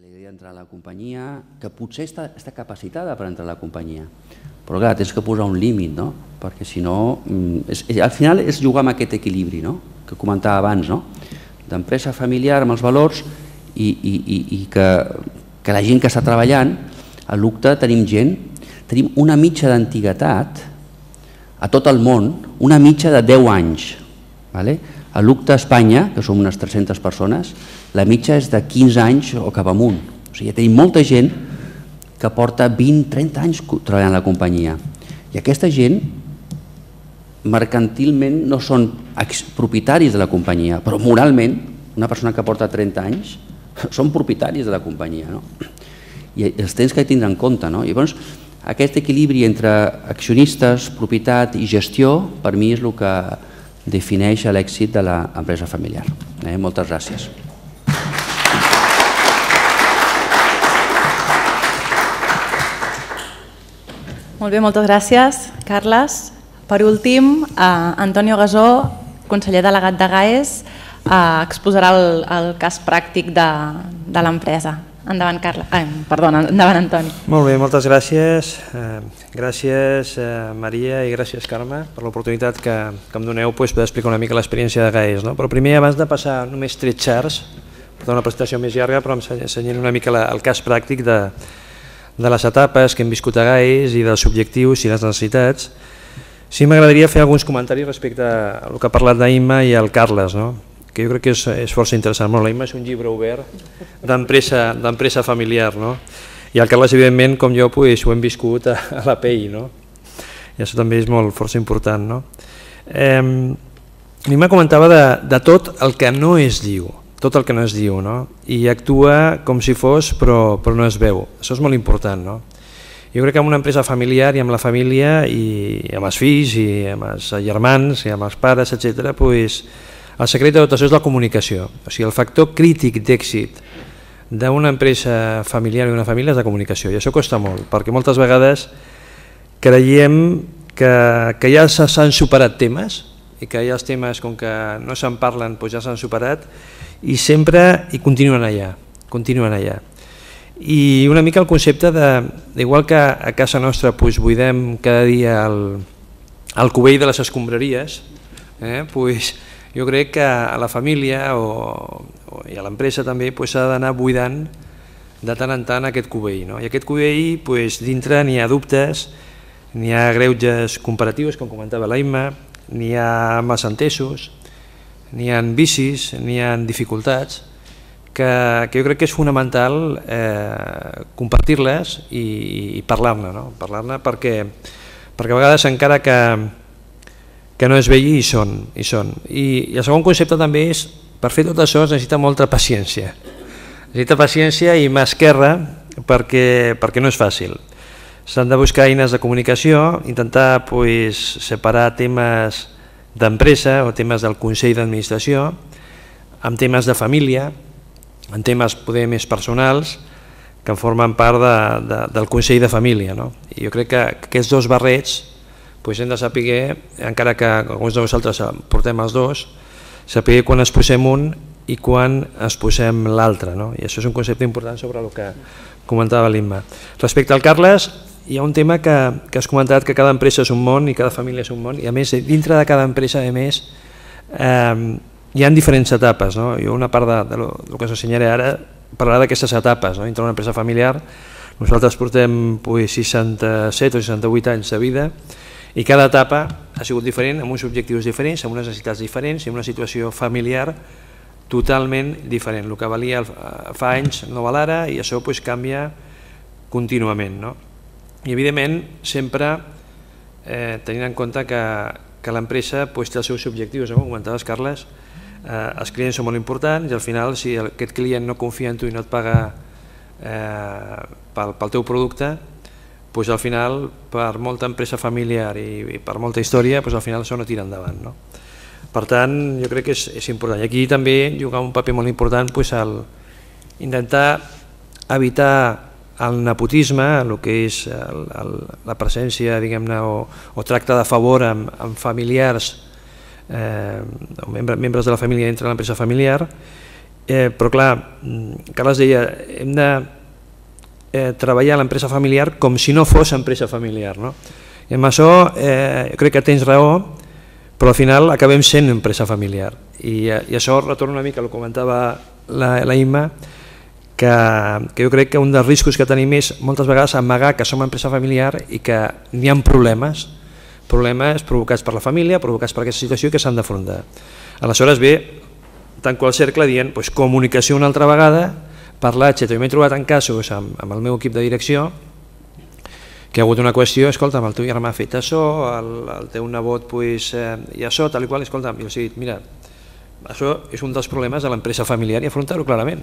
li agradaria entrar a la companyia, que potser està capacitada per entrar a la companyia, però clar, tens que posar un límit, no? Perquè si no, al final és jugar amb aquest equilibri, no? Que comentava abans, no? D'empresa familiar amb els valors i que la gent que està treballant, a l'UCTA tenim una mitja d'antiguitat a tot el món, una mitja de 10 anys. A l'UCTA a Espanya, que som unes 300 persones, la mitja és de 15 anys o cap amunt. O sigui, tenim molta gent que porta 20-30 anys treballant a la companyia. I aquesta gent, mercantilment, no són propietaris de la companyia, però moralment, una persona que porta 30 anys, són propietaris de la companyia. I els tens que tindre en compte. Llavors, aquest equilibri entre accionistes, propietat i gestió, per mi és el que defineix l'èxit de l'empresa familiar. Moltes gràcies. Molt bé, moltes gràcies, Carles. Per últim, Antonio Gasó, conseller delegat de GAES, exposarà el cas pràctic de l'empresa. Endavant, endavant, Antoni. Molt bé, moltes gràcies. Gràcies, Maria, i gràcies, Carme, per l'oportunitat que em doneu per explicar una mica l'experiència de GAES. Però primer, abans de passar només 3 charts, per fer una presentació més llarga, però ensenyant una mica el cas pràctic de les etapes que hem viscut a GAES i dels objectius i les necessitats, sí m'agradaria fer alguns comentaris respecte al que ha parlat d'Imma i el Carles, que jo crec que és força interessant. La Imma és un llibre obert d'empresa familiar, i el Carles, evidentment, com jo, ho hem viscut a la pell, i això també és força important. L'Imma comentava de tot el que no es diu, i actua com si fos, però no es veu. Això és molt important. Jo crec que en una empresa familiar i amb la família i amb els fills i amb els germans i amb els pares, etc., el secret de tot això és la comunicació. O sigui, el factor crític d'èxit d'una empresa familiar i d'una família és la comunicació, i això costa molt, perquè moltes vegades creiem que ja s'han superat temes i que ja els temes, com que no se'n parlen, ja s'han superat i sempre continuen allà. I una mica el concepte igual que a casa nostra buidem cada dia el cubell de les escombraries, jo crec que a la família i a l'empresa també s'ha d'anar buidant de tant en tant aquest cubell. I aquest cubell, dintre n'hi ha dubtes, n'hi ha greuges comparatius, com comentava l'Imma, n'hi ha malentesos, n'hi ha vicis, n'hi ha dificultats, que jo crec que és fonamental compartir-les i parlar-ne, perquè a vegades encara que no es vegi hi són. I el segon concepte també és, per fer tot això es necessita molta paciència. Necessita paciència i mà esquerra perquè no és fàcil. S'han de buscar eines de comunicació, intentar separar temes d'empresa o temes del Consell d'Administració amb temes de família, en temes poder més personals que formen part del Consell de Família. I jo crec que aquests dos barrets hem de saber, encara que alguns de vosaltres portem els dos, saber quan es posem un i quan es posem l'altre. I això és un concepte important sobre el que comentava l'Imma. Respecte al Carles, hi ha un tema que has comentat, que cada empresa és un món i cada família és un món, i a més, dintre de cada empresa, hi ha diferents etapes. Una part del que us ensenyaré ara parlarà d'aquestes etapes. Dintre d'una empresa familiar, nosaltres portem 67 o 68 anys de vida, i cada etapa ha sigut diferent, amb uns objectius diferents, amb unes necessitats diferents i amb una situació familiar totalment diferent. El que valia fa anys no val ara, i això canvia contínuament. I evidentment sempre tenint en compte que l'empresa té els seus objectius, com comentaves, Carles, els clients són molt importants i al final si aquest client no confia en tu i no et paga pel teu producte, al final, per molta empresa familiar i per molta història, al final això no tira endavant. Per tant, jo crec que és important. I aquí també juga un paper molt important intentar evitar el nepotisme, el que és la presència, diguem-ne, o tracte de favor amb familiars, membres de la família dintre de l'empresa familiar, Però clar, Carles deia, hem de treballar a l'empresa familiar com si no fos empresa familiar, no? I amb això jo crec que tens raó, però al final acabem sent empresa familiar. I això retorna una mica al que comentava la Imma, que jo crec que un dels riscos que tenim és moltes vegades amagar que som empresa familiar i que n'hi ha problemes provocats per la família, provocats per aquesta situació que s'han d'afrontar. Aleshores ve tanco el cercle dient comunicació una altra vegada, parlar, etc. Jo m'he trobat en casos amb el meu equip de direcció que ha hagut una qüestió, escolta'm, el teu germà ha fet això, el teu nebot i això, tal i qual, escolta'm, i els he dit, mira, això és un dels problemes de l'empresa familiar i afrontar-ho clarament.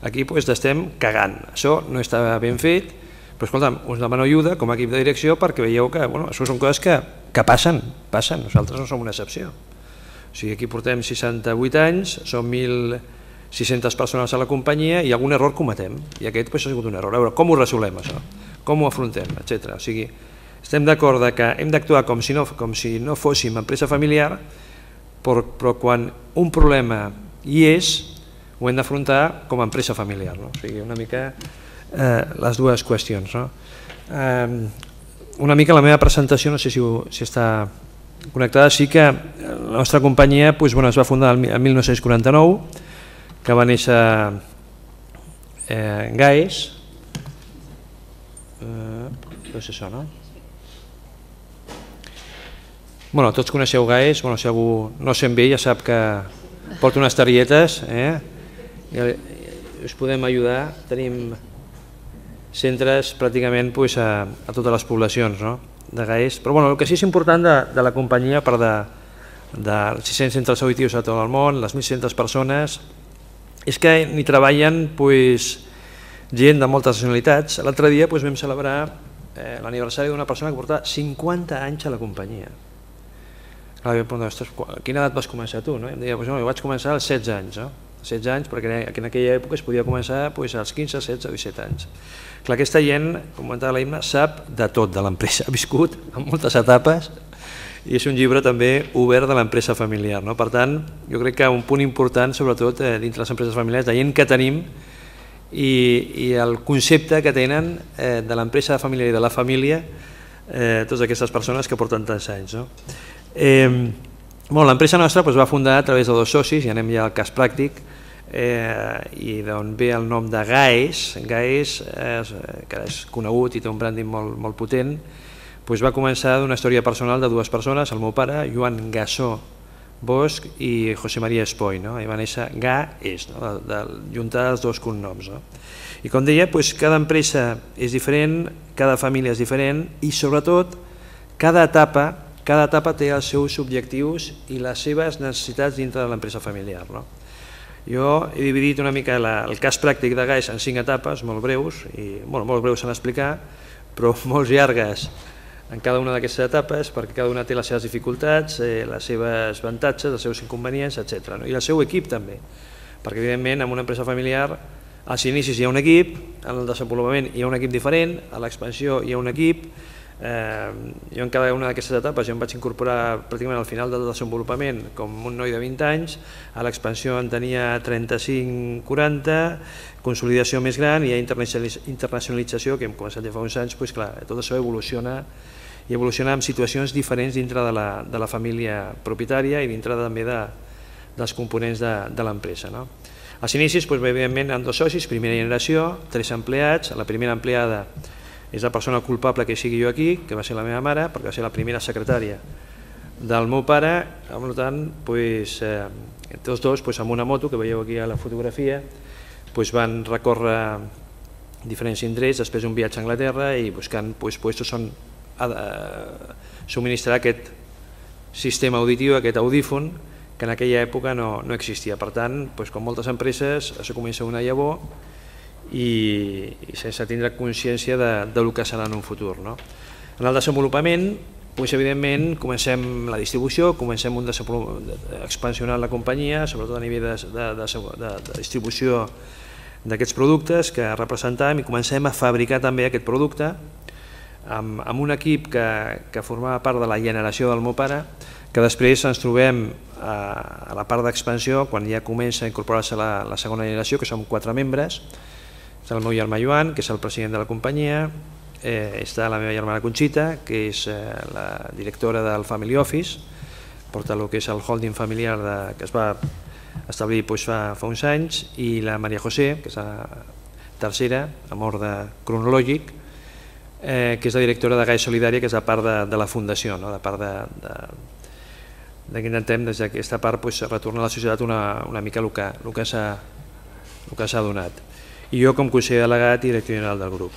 Aquí estem cagant, això no està ben fet, però escolta'm, us demano ajuda com a equip de direcció perquè veieu que això són coses que passen, nosaltres no som una excepció. O sigui, aquí portem 68 anys, som 1.600 persones a la companyia i algun error cometem, i aquest ha sigut un error. A veure, com ho resolem això? Com ho afrontem, etc. O sigui, estem d'acord que hem d'actuar com si no fóssim empresa familiar, però quan un problema hi és, ho hem d'afrontar com a empresa familiar. O sigui, una mica les dues qüestions. Una mica la meva presentació, no sé si està connectada, sí que la nostra companyia es va fundar el 1949, que va néixer GAES, no sé això, no? Bueno, tots coneixeu GAES, si algú no se'n ve ja sap que porta unes targetes, us podem ajudar, tenim centres pràcticament a totes les poblacions de GAES, però el que sí és important de la companyia, a part de 600 centres auditius a tot el món, les 1.600 persones, és que hi treballen gent de moltes nacionalitats. L'altre dia vam celebrar l'aniversari d'una persona que portava 50 anys a la companyia. A quina edat vas començar tu? Em deia, jo vaig començar als 16 anys, 16 anys, perquè en aquella època es podia començar als 15, 16 o 17 anys. Aquesta gent, com comentava la Imma, sap de tot de l'empresa, ha viscut en moltes etapes i és un llibre també obert de l'empresa familiar. Per tant, jo crec que un punt important, sobretot dintre les empreses familiars, la gent que tenim i el concepte que tenen de l'empresa familiar i de la família, totes aquestes persones que porten tants anys. L'empresa nostra va fundar a través de 2 socis, i anem ja al cas pràctic, i d'on ve el nom de GAES. GAES, que és conegut i té un branding molt potent, va començar d'una història personal de 2 persones, el meu pare, Joan Gasó Bosch, i José María Espoy, i va néixer GAES, juntar els 2 cognoms. I com deia, cada empresa és diferent, cada família és diferent i sobretot cada etapa té els seus objectius i les seves necessitats dintre de l'empresa familiar. Jo he dividit una mica el cas pràctic de GAES en 5 etapes, molt breus, molt breus en explicar, però molt llargues en cada una d'aquestes etapes, perquè cada una té les seves dificultats, les seves avantatges, els seus inconvenients, etc. I el seu equip també, perquè evidentment en una empresa familiar als inicis hi ha un equip, en el desenvolupament hi ha un equip diferent, a l'expansió hi ha un equip. Jo en cada una d'aquestes etapes em vaig incorporar pràcticament al final del desenvolupament com un noi de 20 anys, a l'expansió en tenia 35-40, consolidació més gran i internacionalització, que hem començat ja fa uns anys, clar, tot això evoluciona i evoluciona en situacions diferents dintre de la família propietària i dintre també dels components de l'empresa. Als inicis, evidentment, amb 2 socis, primera generació, 3 empleats. La primera empleada és la persona culpable que sigui jo aquí, que va ser la meva mare, perquè va ser la primera secretària del meu pare. Per tant, tots 2 amb una moto, que veieu aquí a la fotografia, van recórrer diferents indrets, després un viatge a Anglaterra i buscant puestos on subministrar aquest sistema auditiu, aquest audífon, que en aquella època no existia. Per tant, com moltes empreses, això comença una llavor i sense tindre consciència del que serà en un futur. En el desenvolupament, evidentment, comencem la distribució, comencem expansionant la companyia, sobretot a nivell de distribució d'aquests productes que representem, i comencem a fabricar també aquest producte amb un equip que formava part de la generació del meu pare, que després ens trobem a la part d'expansió, quan ja comença a incorporar-se la segona generació, que som 4 membres. Està el meu germà Joan, que és el president de la companyia, està la meva germana Conxita, que és la directora del Family Office, porta el que és el holding familiar que es va establir fa uns anys, i la Maria José, que és la tercera, amb ordre cronològic, que és la directora de GAES Solidària, que és la part de la fundació, la part que intentem des d'aquesta part retornar a la societat una mica el que s'ha donat. I jo com conseller delegat i director general del grup.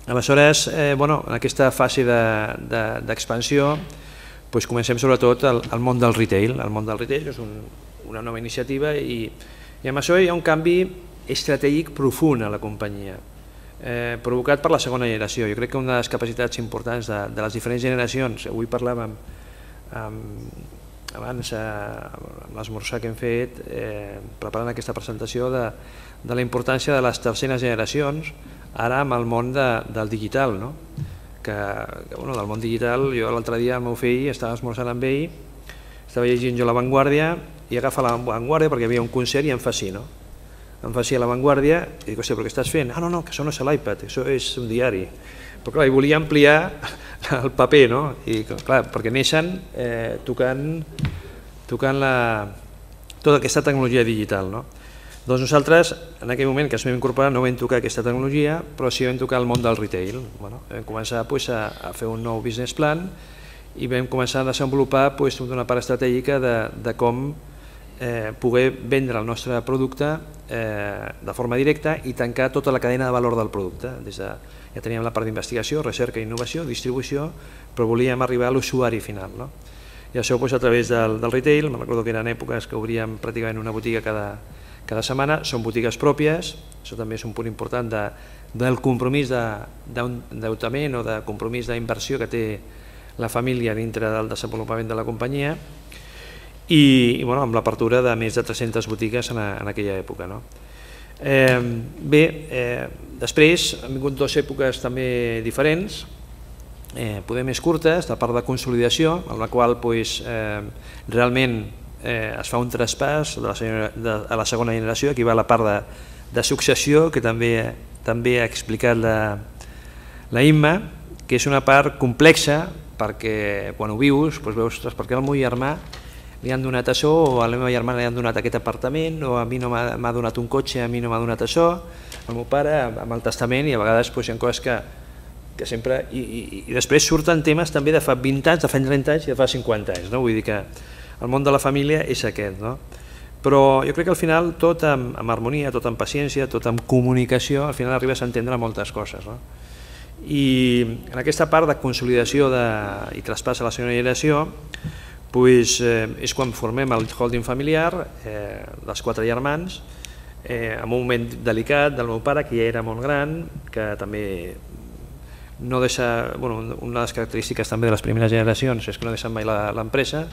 Aleshores, en aquesta fase d'expansió comencem sobretot al món del retail. El món del retail és una nova iniciativa i amb això hi ha un canvi estratègic profund a la companyia, provocat per la segona generació. Jo crec que una de les capacitats importants de les diferents generacions, avui parlàvem abans amb l'esmorzar que hem fet preparant aquesta presentació de la importància de les terceres generacions ara amb el món del digital, del món digital. Jo l'altre dia el meu fill estava esmorzant amb ell, estava llegint jo La Vanguardia i agafa La Vanguardia perquè hi havia un concert i em fa així, em fa així a La Vanguardia i dic, hòstia, però què estàs fent? Ah, no, que això no és l'iPad, això és un diari. Però clar, volia ampliar el paper, i clar, perquè neixen tocant tota aquesta tecnologia digital. Doncs nosaltres, en aquell moment que ens vam incorporar, no vam tocar aquesta tecnologia, però sí vam tocar el món del retail. Vam començar a fer un nou business plan i vam començar a desenvolupar una part estratègica de com poder vendre el nostre producte de forma directa i tancar tota la cadena de valor del producte. Ja teníem la part d'investigació, recerca, innovació, distribució, però volíem arribar a l'usuari final. I això a través del retail, me'n recordo que eren èpoques que obríem pràcticament una botiga cada setmana, són botigues pròpies, això també és un punt important del compromís d'endeutament o de compromís d'inversió que té la família dintre del desenvolupament de la companyia i amb l'apertura de més de 300 botigues en aquella època. Bé, després han vingut 2 èpoques també diferents, poder més curtes, la part de consolidació, en la qual realment es fa un traspàs a la segona generació. Aquí va la part de successió que també ha explicat la Imma, que és una part complexa perquè quan ho vius veus perquè al meu germà li han donat això o a la meva germana li han donat aquest apartament o a mi no m'ha donat un cotxe, a mi no m'ha donat això, el meu pare amb el testament, i a vegades hi ha coses que sempre... I després surten temes també de fa 20 anys, de fa 30 anys i de fa 50 anys. Vull dir que el món de la família és aquest. Però jo crec que al final tot amb harmonia, tot amb paciència, tot amb comunicació, al final arribes a entendre moltes coses. I en aquesta part de consolidació i traspàs a la segona generació és quan formem el holding familiar, les 4 germans, en un moment delicat del meu pare, que ja era molt gran, que també no deixa... Una de les característiques també de les primeres generacions és que no deixen mai l'empresa.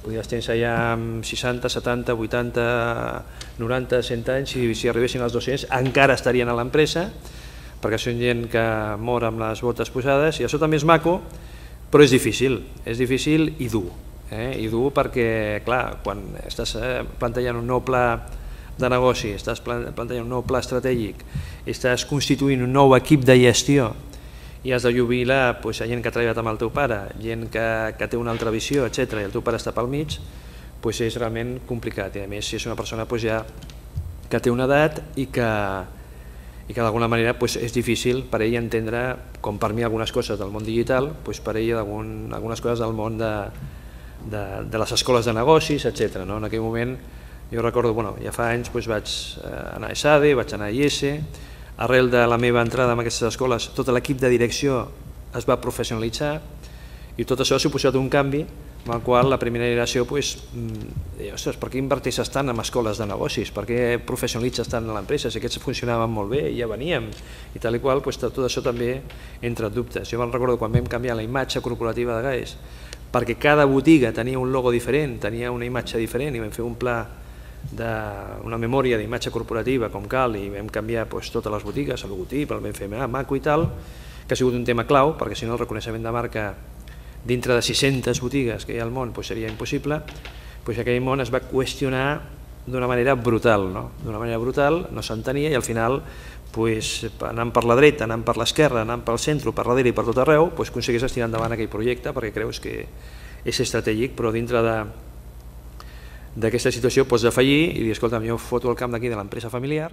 Podies tenir ja amb 60, 70, 80, 90, 100 anys, i si arribessin als 200 encara estarien a l'empresa, perquè són gent que mor amb les botes posades, i això també és maco, però és difícil i dur. I dur perquè, clar, quan estàs plantejant un nou pla de negoci, estàs plantejant un nou pla estratègic, estàs constituint un nou equip de gestió i has de jubilar gent que ha treballat amb el teu pare, gent que té una altra visió, etc., i el teu pare està pel mig, és realment complicat. I a més, si és una persona ja que té una edat i que d'alguna manera és difícil per ell entendre, com per mi algunes coses del món digital, per ell algunes coses del món de les escoles de negocis, etc. En aquell moment, jo recordo, ja fa anys vaig anar a ESADE, vaig anar a IES, arrel de la meva entrada en aquestes escoles, tot l'equip de direcció es va professionalitzar i tot això ha suposat un canvi amb el qual la primera generació deia, ostres, per què inverteixes tant en escoles de negocis? Per què professionalitzes tant a l'empresa? Si aquests funcionaven molt bé i ja veníem i tal i qual, tot això també entra en dubtes. Jo me'n recordo quan vam canviar la imatge corporativa de GAES, perquè cada botiga tenia un logo diferent, tenia una imatge diferent, i vam fer un pla una memòria d'imatge corporativa com cal, i vam canviar totes les botigues, el logotip, el vam fer maco i tal, que ha sigut un tema clau, perquè si no el reconeixement de marca dintre de 600 botigues que hi ha al món seria impossible, aquell món es va qüestionar d'una manera brutal, d'una manera brutal, no s'entenia i al final anant per la dreta, anant per l'esquerra, anant pel centre, per darrere i per tot arreu, aconseguís estirar endavant aquell projecte perquè creus que és estratègic, però dintre d'aquesta situació pots defallir i dir, escolta, jo foto el camp d'aquí de l'empresa familiar